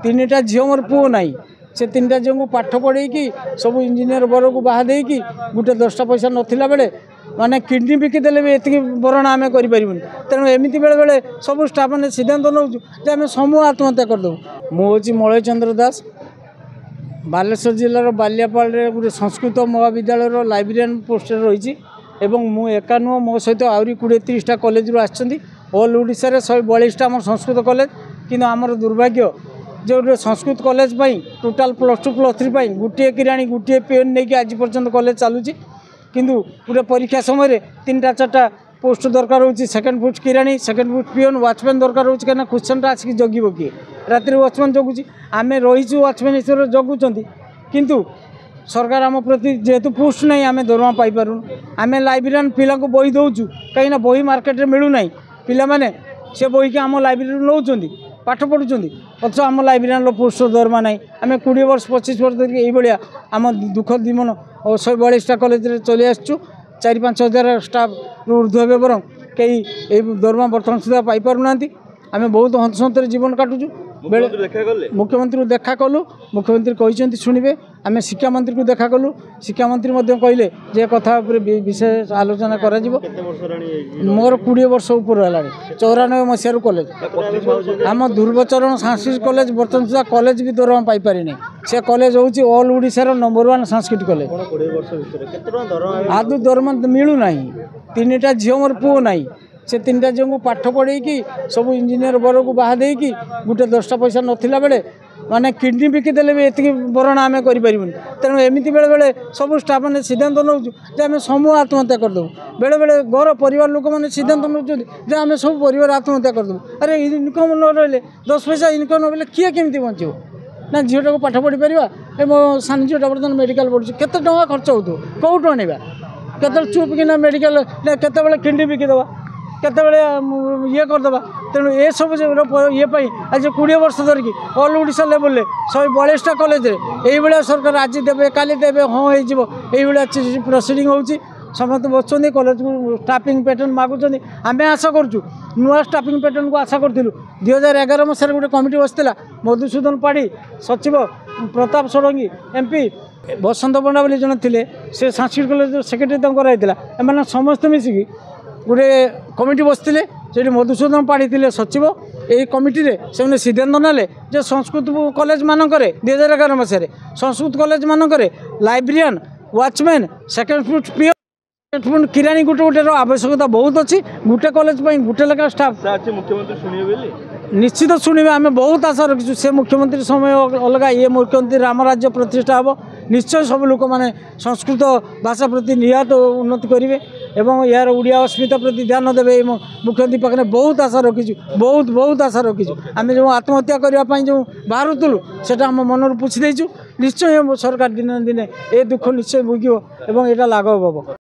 ତିନିଟା ଝିଅ, ମୋର ପୁଅ ନାହିଁ। ସେ ତିନିଟା ଝିଅଙ୍କୁ ପାଠ ପଢ଼େଇକି ସବୁ ଇଞ୍ଜିନିୟର ବରକୁ ବାହା ଦେଇକି ଗୋଟେ 10ଟା ପଇସା ନଥିଲା ବେଳେ, ମାନେ କିଡ଼ନୀ ବିକିଦେଲେ ବି ଏତିକି ଭରଣା ଆମେ କରିପାରିବୁନି। ତେଣୁ ଏମିତି ବେଳେବେଳେ ସବୁ ଷ୍ଟାଫ୍ ମାନେ ସିଦ୍ଧାନ୍ତ ନେଉଛୁ ଯେ ଆମେ ସମୂହ ଆତ୍ମହତ୍ୟା କରିଦେବୁ। ମୁଁ ହେଉଛି ମଳୟ ଚନ୍ଦ୍ର ଦାସ, ବାଲେଶ୍ୱର ଜିଲ୍ଲାର ବାଲିଆପାଳରେ ଗୋଟେ ସଂସ୍କୃତ ମହାବିଦ୍ୟାଳୟର ଲାଇବ୍ରେରିଆନ୍ ପୋଷ୍ଟରେ ରହିଛି। ଏବଂ ମୁଁ ଏକା ନୁହଁ, ମୋ ସହିତ ଆହୁରି 20 30ଟା କଲେଜରୁ ଆସିଛନ୍ତି। ଅଲ୍ ଓଡ଼ିଶାରେ 142ଟା ଆମର ସଂସ୍କୃତ କଲେଜ। କିନ୍ତୁ ଆମର ଦୁର୍ଭାଗ୍ୟ ଯେ ଗୋଟେ ସଂସ୍କୃତ କଲେଜ ପାଇଁ ଟୋଟାଲ୍ +2 +3 ପାଇଁ ଗୋଟିଏ କିରାଣୀ, ଗୋଟିଏ ପିଅନ୍ ନେଇକି ଆଜି ପର୍ଯ୍ୟନ୍ତ କଲେଜ ଚାଲୁଛି। କିନ୍ତୁ ଗୋଟେ ପରୀକ୍ଷା ସମୟରେ 3ଟା 4ଟା ପୋଷ୍ଟ ଦରକାର ହେଉଛି, ସେକେଣ୍ଡ ପୋଷ୍ଟ କିରାଣୀ, ସେକେଣ୍ଡ ପୋଷ୍ଟ ପିଅନ୍, ୱାଚମ୍ୟାନ୍ ଦରକାର ହେଉଛି। କାହିଁକିନା କ୍ୱେଶ୍ଚନ୍ଟା ଆସିକି ଜଗିବ କିଏ? ରାତିରେ ୱାଚମ୍ୟାନ୍ ଜଗୁଛି, ଆମେ ରହିଛୁ, ୱାଚମ୍ୟାନ୍ ହିସାବରେ ଜଗୁଛନ୍ତି। କିନ୍ତୁ ସରକାର ଆମ ପ୍ରତି ଯେହେତୁ ପୋଷ୍ଟ ନାହିଁ, ଆମେ ଦରମା ପାଇପାରୁନୁ। ଆମେ ଲାଇବ୍ରେରିଆନ୍ ପିଲାଙ୍କୁ ବହି ଦେଉଛୁ, କାହିଁକିନା ବହି ମାର୍କେଟରେ ମିଳୁନାହିଁ। ପିଲାମାନେ ସେ ବହିକି ଆମ ଲାଇବ୍ରେରୀରୁ ନେଉଛନ୍ତି, ପାଠ ପଢ଼ୁଛନ୍ତି, ଅଥଚ ଆମ ଲାଇବ୍ରେରିଆନ୍ର ପୋଷ୍ଟ ଦରମା ନାହିଁ। ଆମେ 20 ବର୍ଷ 25 ବର୍ଷ ଧରିକି ଏଇଭଳିଆ ଆମ ଦୁଃଖ ଜୀବନ 142ଟା କଲେଜରେ ଚଳି ଆସିଛୁ। 4 5 ହଜାର ଷ୍ଟାଫ୍ରୁ ଉର୍ଦ୍ଧ୍ୱ ହେବେ, ବରଂ କେହି ଏଇ ଦରମା ବର୍ତ୍ତମାନ ସୁଦ୍ଧା ପାଇପାରୁନାହାନ୍ତି। ଆମେ ବହୁତ ହନ୍ତସନ୍ତରେ ଜୀବନ କାଟୁଛୁ। ବେଳେ ମୁଖ୍ୟମନ୍ତ୍ରୀଙ୍କୁ ଦେଖା କଲୁ, ମୁଖ୍ୟମନ୍ତ୍ରୀ କହିଛନ୍ତି ଶୁଣିବେ। ଆମେ ଶିକ୍ଷାମନ୍ତ୍ରୀଙ୍କୁ ଦେଖା କଲୁ, ଶିକ୍ଷାମନ୍ତ୍ରୀ ମଧ୍ୟ କହିଲେ ଯେ କଥା ଉପରେ ବିଶେଷ ଆଲୋଚନା କରାଯିବ। ମୋର 20 ବର୍ଷ ଉପରେ ହେଲାଣି, 94 ମସିହାରୁ କଲେଜ। ଆମ ଧ୍ରୁବଚରଣ ସାଂସ୍କ୍ରିଟ କଲେଜ ବର୍ତ୍ତମାନ ସୁଦ୍ଧା କଲେଜ ବି ଦରମା ପାଇପାରିନି। ସେ କଲେଜ ହେଉଛି ଅଲ୍ ଓଡ଼ିଶାର ନମ୍ବର 1 ସାଂସ୍କ୍ରିଟ କଲେଜ। ଆଦୌ ଦରମା ମିଳୁନାହିଁ। ତିନିଟା ଝିଅ, ମୋର ପୁଅ ନାହିଁ। ସେ ତିନିଟା ଝିଅଙ୍କୁ ପାଠ ପଢ଼େଇକି ସବୁ ଇଞ୍ଜିନିୟର ବରକୁ ବାହା ଦେଇକି ଗୋଟେ 10ଟା ପଇସା ନଥିଲା ବେଳେ, ମାନେ କିଡ଼ନୀ ବିକିଦେଲେ ବି ଏତିକି ଭରଣା ଆମେ କରିପାରିବୁନି। ତେଣୁ ଏମିତି ବେଳେବେଳେ ସବୁ ଷ୍ଟାଫ୍ ମାନେ ସିଦ୍ଧାନ୍ତ ନେଉଛୁ ଯେ ଆମେ ସମୂହ ଆତ୍ମହତ୍ୟା କରିଦେବୁ। ବେଳେବେଳେ ଘର ପରିବାର ଲୋକମାନେ ସିଦ୍ଧାନ୍ତ ନେଉଛନ୍ତି ଯେ ଆମେ ସବୁ ପରିବାର ଆତ୍ମହତ୍ୟା କରିଦେବୁ। ଆରେ, ଇନକମ୍ ନ ରହିଲେ, 10 ପଇସା ଇନକମ୍ ନ ରହିଲେ କିଏ କେମିତି ବଞ୍ଚିବ? ନା ଝିଅଟାକୁ ପାଠ ପଢ଼ିପାରିବା? ଏ ମୋ ସାନ ଝିଅଟା ବର୍ତ୍ତମାନ ମେଡ଼ିକାଲ ପଢ଼ୁଛି, କେତେ ଟଙ୍କା ଖର୍ଚ୍ଚ ହେଉଥିବ, କେଉଁଠୁ ଆଣିବା? କେତେବେଳେ ଚୁପ୍ କିନା ମେଡ଼ିକାଲ, କେତେବେଳେ କିଡ଼ନୀ ବିକିଦେବା, କେତେବେଳେ ଇଏ କରିଦେବା। ତେଣୁ ଏସବୁ ଇଏ ପାଇଁ ଆଜି 20 ବର୍ଷ ଧରିକି ଅଲ୍ ଓଡ଼ିଶା ଲେବୁଲରେ 142ଟା କଲେଜରେ ଏଇଭଳିଆ ସରକାର ଆଜି ଦେବେ, କାଲି ଦେବେ, ହଁ ହେଇଯିବ, ଏଇଭଳିଆ ପ୍ରୋସିଡ଼ିଂ ହେଉଛି। ସମସ୍ତେ ବସୁଛନ୍ତି, କଲେଜକୁ ଷ୍ଟାଫିଂ ପ୍ୟାଟର୍ନ ମାଗୁଛନ୍ତି। ଆମେ ଆଶା କରୁଛୁ, ନୂଆ ଷ୍ଟାଫିଂ ପ୍ୟାଟର୍ନକୁ ଆଶା କରିଥିଲୁ। 2011 ମସିହାରେ ଗୋଟେ କମିଟି ବସିଥିଲା, ମଧୁସୂଦନ ପାଢ଼ୀ ସଚିବ, ପ୍ରତାପ ଷଡ଼ଙ୍ଗୀ ଏମ୍ପି, ବସନ୍ତ ପଣ୍ଡା ବୋଲି ଜଣେ ଥିଲେ, ସେ ସାଂସ୍କ୍ରିଟ କଲେଜର ସେକ୍ରେଟାରୀ ତାଙ୍କୁ କରାଯାଇଥିଲା। ଏମାନେ ସମସ୍ତେ ମିଶିକି ଗୋଟେ କମିଟି ବସିଥିଲେ। ସେଠି ମଧୁସୂଦନ ପାଢ଼ୀ ଥିଲେ ସଚିବ। ଏଇ କମିଟିରେ ସେମାନେ ସିଦ୍ଧାନ୍ତ ନେଲେ ଯେ ସଂସ୍କୃତ କଲେଜ ମାନଙ୍କରେ 2011 ମସିହାରେ ସଂସ୍କୃତ କଲେଜ ମାନଙ୍କରେ librarian, watchman, second foot PO, କିରାଣୀ ଗୋଟେ ଗୋଟେର ଆବଶ୍ୟକତା ବହୁତ ଅଛି। ଗୋଟେ କଲେଜ ପାଇଁ ଗୋଟେ ଲେଖା ଷ୍ଟାଫ୍। ମୁଖ୍ୟମନ୍ତ୍ରୀ ଶୁଣିବେ ବୋଲି? ନିଶ୍ଚିତ ଶୁଣିବେ, ଆମେ ବହୁତ ଆଶା ରଖିଛୁ। ସେ ମୁଖ୍ୟମନ୍ତ୍ରୀ ସମୟ ଅଲଗା, ଇଏ ମୁଖ୍ୟମନ୍ତ୍ରୀ। ରାମରାଜ୍ୟ ପ୍ରତିଷ୍ଠା ହେବ ନିଶ୍ଚୟ। ସବୁ ଲୋକମାନେ ସଂସ୍କୃତ ଭାଷା ପ୍ରତି ନିହାତ ଉନ୍ନତି କରିବେ ଏବଂ ଏହାର ଓଡ଼ିଆ ଅସ୍ମିତା ପ୍ରତି ଧ୍ୟାନ ଦେବେ। ଏ ମୁଖ୍ୟମନ୍ତ୍ରୀ ପାଖରେ ବହୁତ ଆଶା ରଖିଛୁ, ବହୁତ ବହୁତ ଆଶା ରଖିଛୁ। ଆମେ ଯେଉଁ ଆତ୍ମହତ୍ୟା କରିବା ପାଇଁ ଯେଉଁ ବାହାରୁଥିଲୁ, ସେଇଟା ଆମ ମନରୁ ପୋଛି ଦେଇଛୁ। ନିଶ୍ଚୟ ସରକାର ଦିନେ ନା ଦିନେ ଏ ଦୁଃଖ ନିଶ୍ଚୟ ଭୋଗିବ ଏବଂ ଏଇଟା ଲାଘବ ହେବ।